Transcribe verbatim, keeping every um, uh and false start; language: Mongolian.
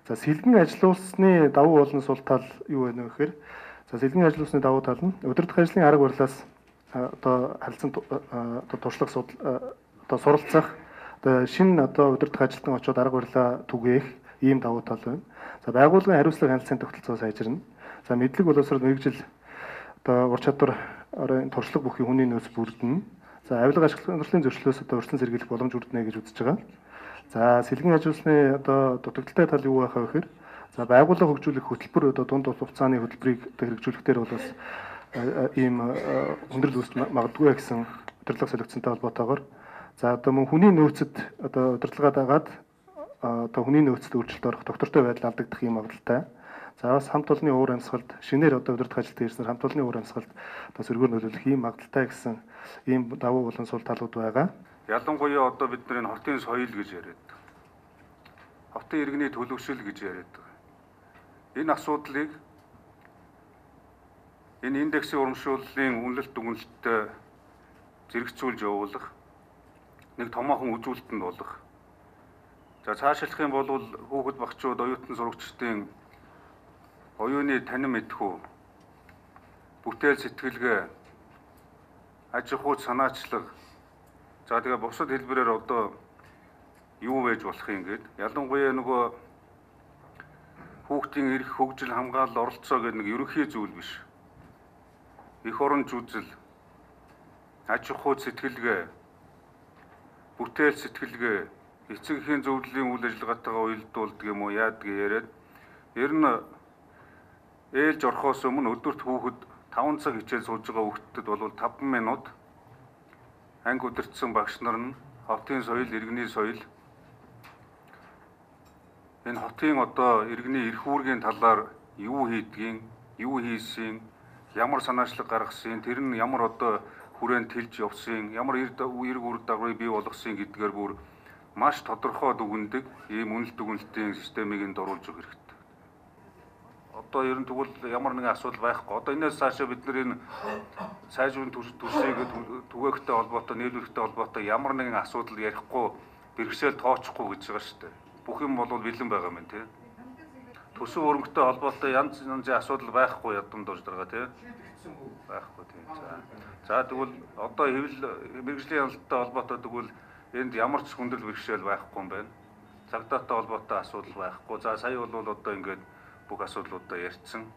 За сэлгэн ажилуулсны давуу болон сул тал юу вэ гэхээр за сэлгэн ажилуулсны давуу тал нь удирдах ажлын арга барилаас одоо харилцан одоо туршлага судал одоо суралцах одоо шинэ одоо удирдах ажилтан очоод арга барилаа түгээх ийм давуу тал байна. За байгууллагын хариуцлага хяналтын тогтолцоо сайжирна. За мэдлэг боловсрол мэрэгжил одоо ур чадвар орон туршлага бүхий хүний нөөц бүрдэнэ. За авилга ашиглалтын зөрчлөөс одоо урьдчилан сэргийлэх боломж бүрдэнэ гэж үзэж байгаа. За сэлгэн ажилуулсны одоо дутагдaltaй тал юу байх вэ гэхээр за байгууллага хөгжүүлэх хөтөлбөр одоо дунд хугацааны хөтөлбөрийг хэрэгжүүлэхээр бол бас ийм хүндрэл үүсч магадгүй гэсэн удирдлага солилцсонтой холбоотойгоор за одоо мөн хүний нөөцөд одоо удирдлагаа дагаад одоо хүний нөөцөд өөрчлөлт орох доктортой байдал алдагдах юм магадaltaй. За бас хамт олонны уур амьсгалд шинээр одоо удирдах ажилд ирснээр хамт олонны уур амьсгалд одоо сөргөөр нөлөөлөх ийм магадaltaй гэсэн ийм давуу болон сул талууд байгаа. Ялангуяа одоо бид нар энэ хотын соёл гэж яриад байгаа. Хотын иргэний төлөвшил гэж яриад байгаа. Энэ асуудлыг энэ индексийн урамшууллын үнэлэлт дүгнэлттэй зэрэгцүүлж явуулах нэг томоохон үзүүлэлтэнд болох. За цаашлах юм бол хүүхэд багчууд, оюутан сурагчдын оюуны танин мэдхүү, бүтээл сэтгэлгээ, аж ахуйн санаачлаг, за тэгээ бусад хэлбэрээр одоо юу байж болох юм гээд ялангуяа нөгөө хүүхдийн эрх, хөгжил, хамгаалал, оролцоо гэдэг нэг ерөнхий зүйл биш. Эх орон жүжил, аж ахуйн сэтгэлгээ, бүтээл сэтгэлгээ, эцэг эхийн зөвлөлийн үйл ажиллагаатайгаа уялдуулдаг юм уу яадаг яриад ер нь ээлж орохоос өмнө өдөрт хүүхэд таван цаг хичээл сууж байгаа хүүхдэд бол таван минут анги удирдсан багш нар нь хотын соёл, иргэний соёл энэ хотын одоо иргэний эрх үүргийн талаар юу хийдгийг, юу хийсэн, ямар санаачлаг гаргасан, тэр нь ямар одоо хүрээнд тэлж явсан, ямар эрг үр дагаврыг бий болгосон гэдгээр бүр маш тодорхой дүгнэдэг ийм үнэлт дүгнэлтийн системийг энд оруулж өгөх хэрэгтэй. Одоо ер нь тэгвэл ямар нэгэн асуудал байхгүй. Одоо энэс цаашаа бид нар энэ сайжруулалтын төсвийг түгээхтэй холбоотой, нийлүүлэхтэй холбоотой ямар нэгэн асуудал ярихгүй, бэрхшээл тооцохгүй гэж байгаа шүү дээ. Бүх юм бол бэлэн байгаа юм тий. Төсөв өргөнтэй холбоотой янз янзын асуудал байхгүй ядам дурж байгаа тий. Байхгүй тий. За. За тэгвэл одоо хэвлэл мэрэгжлийн хяналттай холбоотой тэгвэл энд ямар ч хүндрэл бэрхшээл байхгүй юм байна. Цагдаатай холбоотой асуудал байхгүй. За сая бол одоо ингээд бүх асуудлуудаа ярьсан.